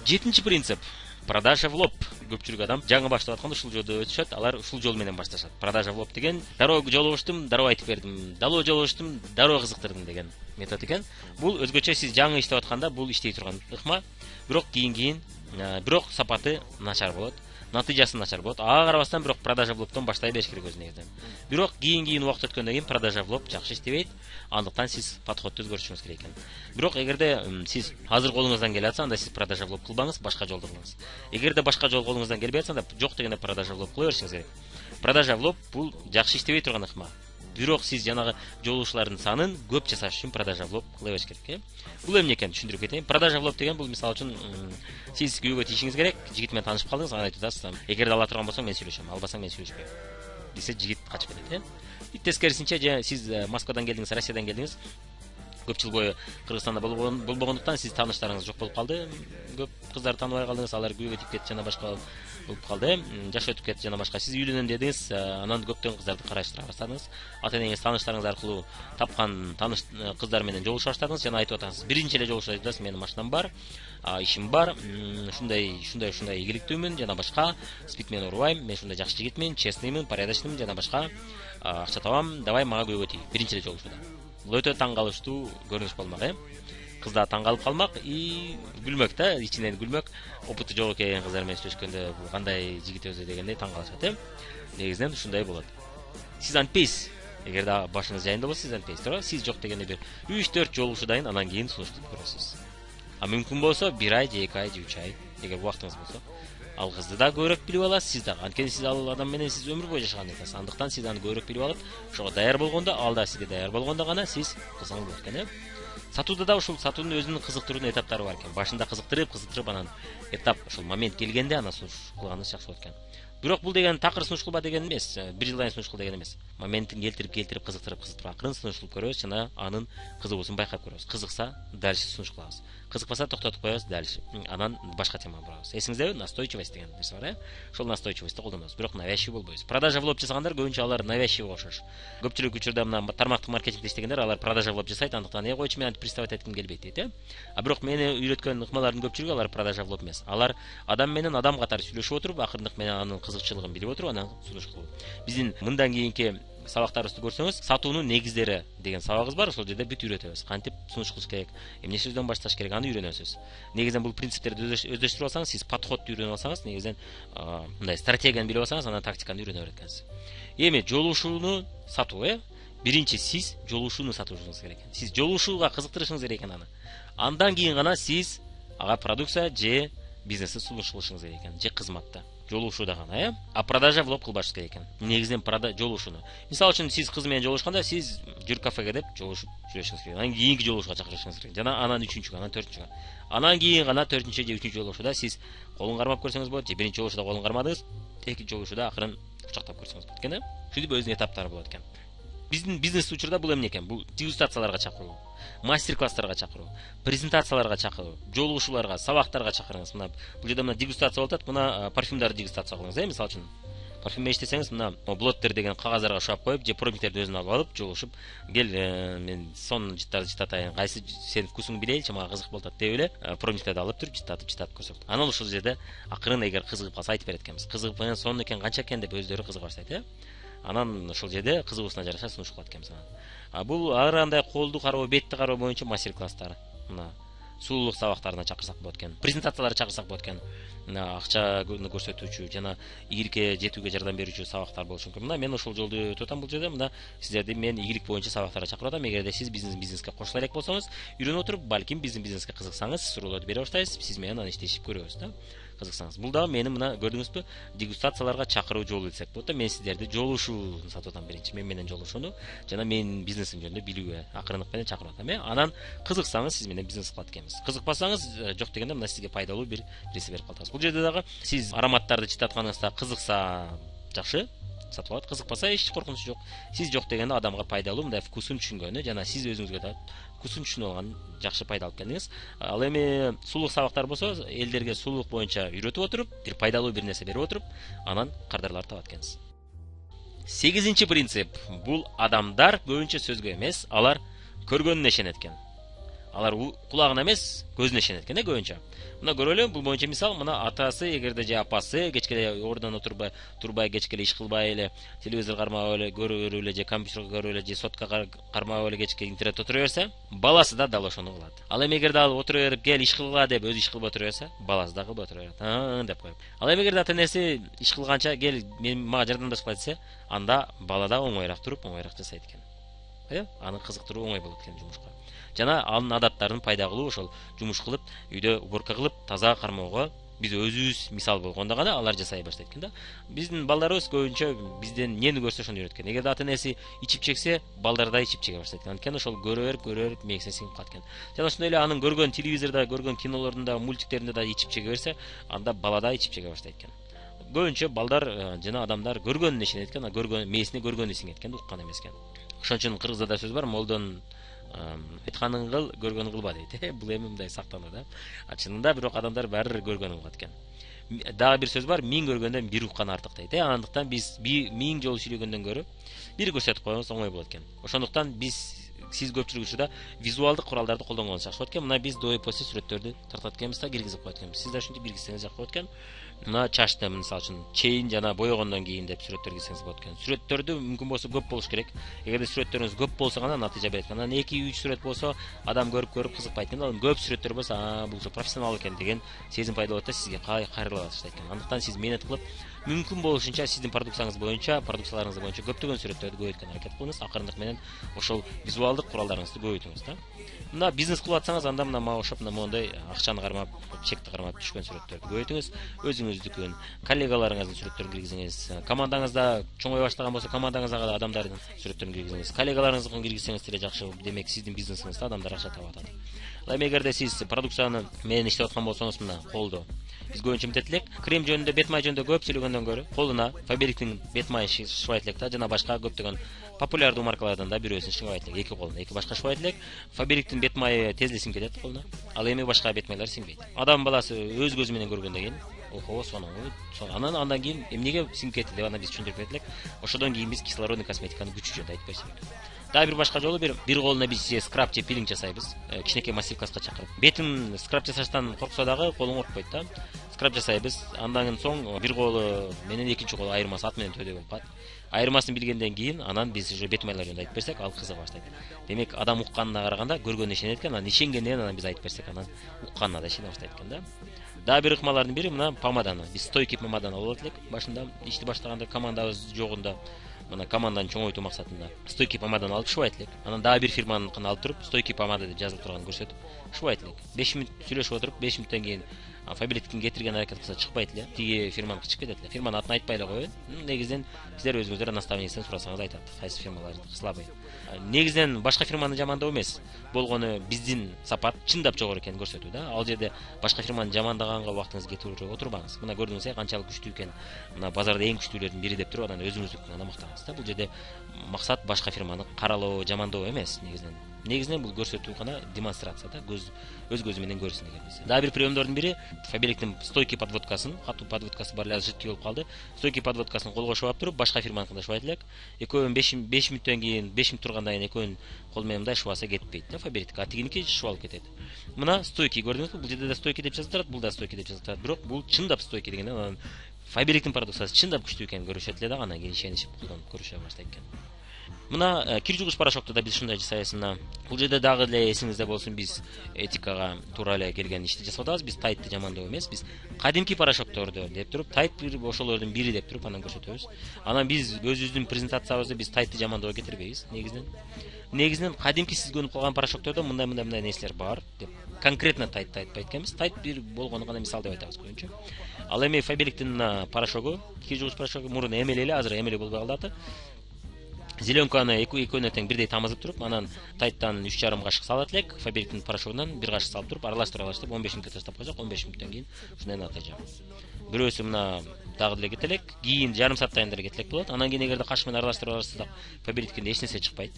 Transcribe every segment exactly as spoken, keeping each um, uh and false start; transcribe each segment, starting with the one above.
Жетинчи принцип. Продажа в лоб. Көпчүлүк адам жаңы баштап атканда ушул жолдо өтүшөт, алар ушул жол менен башташат. Продажа в лоб деген дароо жолугуштум, дароо айтып бердим, дароо жолугуштум, дароо кызыктырдым деген метод экен. Бул өзгөчө сиз жаңы иштеп атканда бул иштей турган ыкма, бирок кийин кийин бирок сапаты начар болот. Натыйжасы начар болот. Ага карабастан бирок продажа в лобдон баштай бериш керек өз негизинен. Бирок кийин кийин убакыт өткөндөн кийин продажа в лоб жакшы иштебейт. Андыктан сиз подходду өзгөртүшүңүз керек экен. Бирок эгерде сиз азыр колуңуздан келе атса, анда сиз продажа в лоб кылбаңыз, башка жолду кылыңыз. Эгерде башка жол колуңуздан келбей атса, анда жок дегенде продажа в лоб кыла беришиңиз керек. Продажа в лоб бул жакшы иштебей турган ыкма. Бирок сиз жанагы жолугушуулардын санын көп жасаш үчүн продажа в лоб кыла бериш керек. Бул эмне экенин түшүндүрүп кетейин. Продажа в лоб деген бул мисалы үчүн сиз күйөөгө тийишиңиз керек, жигит менен таанышып калдыңыз, анан айтып атасыз, эгерде ала турган болсоң мен сүйлөшөм, албасаң мен сүйлөшпөйм десе, жигит качып кетет, э. Тескерисинче, сиз Москвадан келдиңиз, Россиядан келдиңиз, көп жыл бою Кыргызстанда болбогондуктан сиз тааныштарыңыз жок болуп калды, көп кыздарды тааныбай калдыңыз, алар күйөөгө тийип кетти жана башка болуп калды, жаш өтүп кетти жана башка. Сиз үйлөнөм дедиңиз, анан көптөгөн кыздарды караштыра баштадыңыз. Ата-энеңиз тааныштарыңыз аркылуу тапкан тааныш кыздар менен жолугуша баштадыңыз жана айтып атасыз, биринчи эле жолугушуу айтып атасыз, менин машинам бар, ишим бар, ушундай ушундай ушундай ийгиликтүүмүн жана башка, спид менен урбайм, мен ушундай жакшы жигитмин, честныймын, порядочныймын жана башка, акча табам, давай мага күйөөгө тий. Биринчи эле жолугушууда. Бул өтө таң калыштуу көрүнүш болмак, э. Кыз да таң калып калмак и күлмөк да, ичинен күлмөк. Опыты жок экен кыздар менен сүйлөшкөндө, бул кандай жигит өзү дегендей таң калышат, э. Негизинен ушундай болот. Сиз антпейсиз. Эгерде башыңыз жайында болсо, сиз антпейсиз, туура? Сиз жок дегенде бир үч төрт жолугушуудайын, анан кийин сунуш кылып көрөсүз. А мүмкүн болсо бир ай, эки ай, үч ай, эгер убактыңыз болсо, ал кызды да көбүрөөк билип аласыз, сиз дагы. Анткени сиз ал адам менен сиз өмүр бою жашаган экенсиз. Андыктан сиз аны көбүрөөк билип алып, ошого даяр болгондо, ал да сизге даяр болгондо гана сиз кылсаңыз болот экен, э. Сатууда да ушул сатуунун өзүнүн кызыктыруу этаптары бар экен. Башында кызыктырып, кызыктырып, анан этап ушул момент келгенде анан сунуш кылганыңыз жакшы болот экен. Бирок бул деген такыр сунуш кылба деген эмес, бир жылдан сунуш кыл деген эмес. Моментин келтирип, келтирип, кызыктырып, кызыктырып, акырын сунуш кылып көрөбүз жана анын кызыгуусун байкап көрөбүз. Кызыкса, дальше сунуш кылабыз. Кызыкпаса токтотуп коебуз, дальше. Анан башка темага барабыз. Эсиңиздеби, настойчивость деген нерсе бар, э? Ошол настойчивостьти колдонобуз, бирок навязчивый болбойбуз. Продажа в лоб жасагандар көбүнчө алар навязчивый окшош. Көпчүлүк учурда мына тармактык маркетингде иштегендер, алар продажа в лоб жасайт, андыктан э койчу мен антип приставать этким келбейт дейт, э? А бирок мени үйрөткөн ыкмалардын көпчүлүгү алар продажа в лоб эмес. Алар адам менен адам катары сүйлөшүп отуруп, акырындык менен анын кызыкчылыгын билип отуруп, анан сунуш кылуу. Биздин мындан кийинки сабактарыбызды көрсөңүз, сатуунун негиздери деген сабагыбыз бар. Ошол жерде бүт үйрөтөбүз. Кантип сунуш кылыш керек, эмне сөздөн башташ керек, аны үйрөнөсүз. Негизинен бул принциптерди өздөштүрүп алсаңыз, сиз подходду үйрөнүп алсаңыз, негизинен мындай стратегияны билип алсаңыз, анан тактиканы үйрөнө берет экенсиз. Эми жолугушууну сатуу, э? Биринчи сиз жолугушууну сатушуңуз керек экен. Сиз жолугушууга кызыктырышыңыз керек экен аны. Андан кийин гана сиз ага продукция же бизнести сунуш кылышыңыз керек экен, же кызматты. Жолугушууда гана, э? А продажа в лоб кылбашыңыз керек экен. Негизинен жолугушууну. Мисалы үчүн сиз кыз менен жолугушканда, сиз жүр кафеге деп жолугушуп сүйлөшүңүз керек. Анан кийинки жолугушууга чакырышыңыз керек. Жана анан үчүнчүгө, анан төртүнчүгө. Анан кийин гана төртүнчү же үчүнчү жолугушууда сиз колун кармап көрсөңүз болот, же биринчи жолугушууда колун кармадыңыз, экинчи жолугушууда акырын кучактап көрсөңүз болот экен, э? Ушинтип өзүнүн этаптары болот экен. Биздин бизнес учурда бул эмне экен? Бул дегустацияларга чакыруу, мастер-класстарга чакыруу, презентацияларга чакыруу, жолугушууларга, сабактарга чакырыңыз. Мына бул жерде мына дегустация болуп атат, мына парфюмдарды дегустация кылыңыз, э? Мисалы үчүн парфюм иштесеңиз, мына блоттер деген кагаздарга шап коюп, же пробниктерди өзүнө алып алып, жолугушуп, кел, мен сонун жыттарды жыттатайын, кайсы сенин вкусуңду билейинчи, мага кызык болуп атат деп эле, пробниктерди алып туруп жыттатып, жыттатып көрсөтөт. Анан ушул жерде акырын эгер кызыгып калса айтып берет экенбиз. Кызыгып, менен сонун экен, канча экен деп өздөрү кызыга баштайт, э? Анан ошол жерде кызыгуусуна жараша сунуш кылат экенбиз анан. А бул ар кандай колду кароо, бетти кароо боюнча мастер-класстар. Мына сулуулук сабактарына чакырсак болот экен. Презентацияларга чакырсак болот экен. Мына акчаны көрсөтүүчү жана ийгиликке жетүүгө жардам берүүчү сабактар болушу мүмкүн. Мына мен ошол жолду өтүп атам бул жерде. Мына сиздерди мен ийгилик боюнча сабактарга чакырып атам. Эгерде сиз бизнес бизнеске кошула элек болсоңуз, үйрөнүп отуруп, балким биздин бизнеске кызыксаңыз, суроолорду бере баштайсыз, сиз менен анан иштешип көрөбүз да. Кызыксаңыз. Бул дагы менин мына көрдүңүзбү, дегустацияларга чакыруу жолу десек болот да. Мен сиздерди жолугушууну сатып атам биринчи. Мен менен жолугушууну жана менин бизнесим жөнүндө билүүгө, акырындык менен чакырып атам, э? Анан кызыксаңыз, сиз менен бизнес кылат экенбиз. Кызыкпасаңыз, жок дегенде мына сизге пайдалуу бир нерсе берип калтабыз. Бул жерде дагы сиз ароматтарды чыттатканыңызда кызыкса жакшы, сатып алат. Кызыкпаса эч коркунучу жок. Сиз жок дегенде адамга пайдалуу, мындай вкусун түшүнгөнү жана сиз өзүңүзгө да вкусун түшүнүп алган жакшы пайда алып келдиңиз. Ал эми сулуулук сабактар болсо, элдерге сулуулук боюнча үйрөтүп отуруп, бир пайдалуу бир нерсе берип отуруп, анан кардарларды табат экенсиз. Сегизинчи принцип. Бул адамдар көбүнчө сөзгө эмес, алар көргөнүнө ишенет экен. алар кулагына эмес көзүнө ишенет экен да көбүнчө. Мына көрөлү, бул боюнча мисал, мына атасы эгерде же апасы кечке ордунан отурбай, турбай кечке иш кылбай эле, телевизор кармап эле, көрүп эле же компьютер көрүп эле же сотка кармап эле кечке интернет отура берсе, баласы да дал ошону кылат. Ал эми эгерде ал отура берип, кел иш кылгыла деп өзү иш кылбай отура берсе, баласы да кылбай отура берет. А деп коюп. Ал эми эгерде ата энеси иш кылганча кел мен мага жардамдаш кыла десе, анда бала да оңоюраак туруп, оңоюраак жасайт экен. Э, аны кызыктыруу оңой болот экен жумушка. Жана анын адаттарын пайда кылуу, ошол жумуш кылып, үйдө уборка кылып, таза кармоого биз өзүбүз мисал болгондо гана алар жасай баштайт экен да. Биздин балдарыбыз көбүнчө бизден эмнени көрсө ошону үйрөт экен. Эгерде ата энеси ичип чексе, балдар да ичип чеге баштайт экен. Анткени ошол көрө берип, көрө берип мээкине сиңип калат экен. Жана ошондой эле анын көргөн телевизордо, көргөн кинолорунда, мультиктеринде да ичип чеге берсе, анда бала да ичип чеге баштайт экен. Көбүнчө балдар жана адамдар көргөнүнө ишенет экен, көргөн мээсине көргөнү сиңет экен, уккан эмес экен. Ошон үчүн кыргызда да сөз бар, молдон айтканын кыл, көргөнүн кылба дейт. Бул эми мындай сактануу да. Чынында бирок адамдар баары бир көргөнүн кылат экен. Дагы бир сөз бар, миң көргөндөн бир уккан артык дейт. Андыктан биз миң жолу сүйлөгөндөн көрө бир көрсөтүп койсоңуз оңой болот экен. Ошондуктан биз сиз көпчүлүк учурда визуалдык куралдарды колдонгонуңуз жакшы болот экен. Мына биз до и после сүрөттөрдү тартат экенбиз да киргизип коет экенбиз. Сиз да ушинтип киргизсеңиз жакшы болот экен. Мына чачты мисалы үчүн чейин жана боёгондон кийин деп сүрөттөр киргизсеңиз болот экен. Сүрөттөрдү мүмкүн болсо көп болуш керек. Эгерде сүрөттөрүңүз көп болсо гана натыйжа берет экен. Анан эки үч сүрөт болсо адам көрүп көрүп кызыкпайт экен. Ал көп сүрөттөр болсо, а бул профессионал экен деген сезим пайда болот да, сизге кайрыла баштайт экен. Андыктан сиз менет кылып, мүмкүн болушунча сиздин продукцияңыз боюнча, продукцияларыңыз боюнча көптөгөн сүрөттөрдү көбөйткөнгө аракет кылыңыз. Акырындык менен ошол визуалдык куралдарыңызды көбөйтүңүз да. Мына бизнес кылып атсаңыз, анда мына мага окшоп моундай акчаны кармап, чекти кармап түшкөн сүрөттөрдү көбөйтүңүз. Өзүңүздүкүн, коллегаларыңыздын сүрөттөрүн киргизиңиз. Командаңызда чоңой баштаган болсо, командаңыздагы да адамдардын сүрөттөрүн киргизиңиз. Коллегаларыңыздыкын киргизсеңиз деле жакшы. Демек сиздин бизнесиңизде адамдар акча таап атат. Эми эгерде сиз продукцияны менен иштеп аткан болсоңуз, мына колдо биз көбүнчө эмтет элек, крем жөнүндө, бет май жөнүндө көп сүйлөгөндөн көрө, колуна Фаберликтин бет майы шыбайт элек да, жана башка көптөгөн популярдуу маркалардан да бирөөсүн шыбайт элек, эки колуна, эки башка шыбайт элек. Фаберликтин бет майы тез эле сиңип кетет колуна. Ал эми башка бет майлар сиңбейт. Адам баласы өз көзү менен көргөндөн кийин, охо, сонун, анан андан кийин эмнеге сиңип кетти деп аны биз түшүндүрүп берет элек. Ошодон кийин биз кислородный косметиканы күчү жөнүндө айтып берсек. Дагы бир башка жолу бир бир колуна биз скраб же пилинг жасайбыз. Кичинекей мастер класска чакырып. Бетин скраб жасаштан корксо дагы колуң коркпойт да. Скраб жасайбыз. Андан соң бир колу менен экинчи колу айырмасы ат менен төдө болуп калат. Айырмасын билгенден кийин анан биз уже бет майлар жөнүндө айтып берсек, ал кызыга баштайт. Демек адам укканына караганда көргөнүнө ишенет экен, анан ишенгенден анан биз айтып берсек, анан укканына да ишене баштайт экен да. Дагы бир ыкмалардын бири мына помаданы. Биз стойки помаданы алып алат элек. Башында ишти баштаганда командабыз жогунда, мына команданы чоңойтуу максатында стойки помаданы алып шыбайт элек. Анан дагы бир фирманыкын алып туруп, стойки помада деп жазылып турганын көрсөтүп шыбайт элек. беш мүнөт сүйлөшүп отуруп, беш мүнөттөн кийин Фаберликтин кетирген аракет кылса чыкпайт эле. Тиги фирманыкы чыгып кетет эле. Фирманын атын айтпай эле коет. Негизинен сиздер өзүңүздөр наставниктен сурасаңыз айтат. Кайсы фирмалар слабый. Негизинен башка фирманы жамандоо эмес. Болгону биздин сапат чындап жогору экенин көрсөтүү да. Ал жерде башка фирманы жамандаганга убактыңызды кетирип отурбаңыз. Мына көрдүңүз э, канчалык күчтүү экен. Мына базарда эң күчтүүлөрдүн бири деп туруп, анан өзүңүздүкүн гана мактаңыз да. Бул жерде максат башка фирманы каралоо, жамандоо эмес негизинен. Негизинен бул көрсөтүү гана, демонстрация да, көз өз көзү менен көрсүн дегенбиз. Дагы бир приемдордун бири Фаберликтин стойки подводкасын, катуу подводкасы бар эле, жыткы болуп калды. Стойки подводкасын колго шыбап туруп, башка фирманыкында шыбайт элек. Экөөнүн беш мүнөттөн кийин, беш мүнөт тургандан кийин экөөнүн кол менен мындай шыбаса кетпейт да, Фаберлик. А тигиники шыбалып кетет. Мына стойки көрдүңүзбү? Бул жерде да стойки деп жазылып турат, бул да стойки деп жазылып турат. Бирок бул чындап стойки дегенде анан Фаберликтин продукциясы чындап күчтүү экенин көрүшөт эле да, анан кийин ишенишип колдонуп көрүшө баштайт экен. Мына кир жугуш порошокту да биз ушундай жасайбыз. Мына бул жерде дагы эле эсиңизде болсун, биз этикага туура эле келген ишти жасап атабыз. Биз тайтты жамандоо эмес, биз кадимки порошокторду деп туруп, тайт бир ошолордун бири деп туруп анан көрсөтөбүз. Анан биз өзүбүздүн презентациябызды биз тайтты жамандоого кетирбейбиз. Негизинен негизинен кадимки сиз көрүп калган порошоктордо мындай мындай мындай нерселер бар деп конкретно тайтты айтпайт экенбиз. Тайт бир болгону гана мисал деп айтабыз көбүнчө. Ал эми Фаберликтин порошогу, кир жугуш порошогу мурун эмели эле, азыр эмели болбой калды аты. Зеленканы экөөнө тең бирдей тамызып туруп, анан тайттан үч жарым кашык салат элек, Фаберликтин порошогунан бир кашык салып туруп, аралаштырып алыштып, он беш мүнөткө таштап койсок, он беш мүнөттөн кийин ушундай натыйжа. Бирөөсү мына дагы деле кете элек, кийин жарым сааттан деле кете элек болот. Анан кийин эгерде каш менен аралаштырып алышсак, Фаберликтин эч нерсе чыкпайт.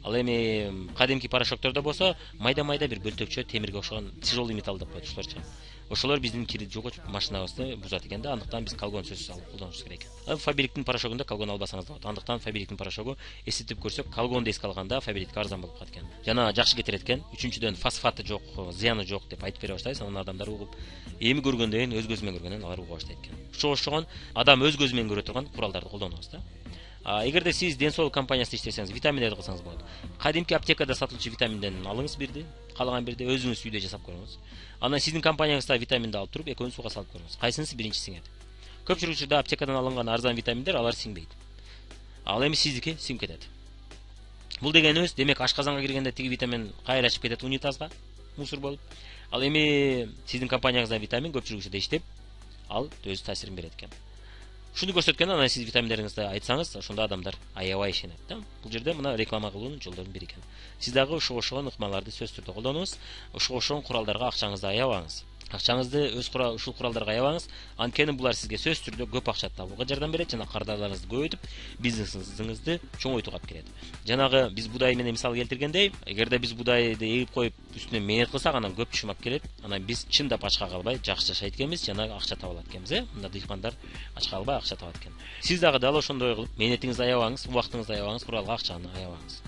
Ал эми кадимки порошоктордо болсо майда майда бир бөлтөкчө темирге окшогон тяжелый металл деп коет ошолорчу. Ошолор биздин кири жугуп машинабызды бузат экен да, андыктан биз колгон сөзсүз алып колдонушубуз керек экен. Фабриктин порошогунда колгон албасаңыз болот. Андыктан фабриктин порошогу эсептеп көрсөк, колгонду эске алганда фабрикке арзан болуп калат экен. Жана жакшы кетирет экен. Үчүнчүдөн фосфаты жок, зыяны жок деп айтып бере баштайбыз. Анан адамдар угуп, эми көргөндөн кийин өз көзү менен көргөндөн алар уга баштайт экен. Ошого окшогон адам өз көзү менен көрө турган куралдарды колдонобуз да. Эгерде сиз ден соолук компаниясында иштесеңиз, витаминдерди кылсаңыз болот. Кадимки аптекада сатылчу витаминден алыңыз бирди, калаган бирди өзүңүз үйдө жасап көрүңүз. Анан сиздин компанияңызда витаминди алып туруп, экөөнү сууга салып көрүңүз. Кайсынысы биринчи сиңет? Көпчүлүк учурда аптекадан алынган арзан витаминдер алар сиңбейт. Ал эми сиздики сиңип кетет. Бул дегенибиз, демек ашказанга киргенде тиги витамин кайра чыгып кетет унитазга, мусор болуп. Ал эми сиздин компанияңызда витамин көпчүлүк учурда иштеп, ал өз таасирин берет экен. Шуну көрсөткөн, анан сиз витаминдериңизди айтсаңыз, ошондо адамдар аябай ишенет да. Бул жерде мына реклама кылуунун жолдорунун бири экен. Сиз дагы ошого окшогон ыкмаларды сөзсүз түрдө колдонуңуз, ошого окшогон куралдарга акчаңызды аябаңыз. Акчаңызды өз курал ушул куралдарга аябаңыз, анткени булар сизге сөзсүз түрдө көп акча табууга жардам берет жана кардарларыңызды көбөйтүп, бизнесиңизди чоңойтууга алып келет. Жанагы биз будай менен мисал келтиргендей, эгерде биз будайды эгип коюп, үстүнө мээнет кылсак, анан көп чумак келет. Анан биз чындап ачка калбай жакшы жашайт экенбиз, жана акча таба алат экенбиз, э? Мында дыйкандар ачка калбай акча табат экен. Сиз дагы дал ошондой кылып, мээнетиңизди аябаңыз, убактыңызды аябаңыз, куралга акчаны аябаңыз.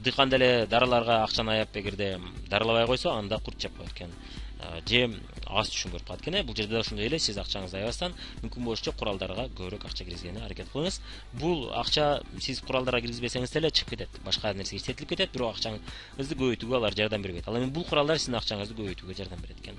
Дыйкан деле дарыларга акчаны аяп, эгерде дарылабай койсо, анда курт жеп коет экен. Же аз түшүн көрүп калат экен. Бул жерде да ошондой эле, сиз акчаңызды аябастан мүмкүн болушунча куралдарга көбүрөөк акча киргизгенге аракет кылыңыз. Бул акча сиз куралдарга киргизбесеңиз деле чыгып кетет, башка нерсеге иштетилип кетет, бирок акчаңызды көбөйтүүгө алар жардам бербейт. Ал эми бул куралдар сиздин акчаңызды көбөйтүүгө жардам берет экен.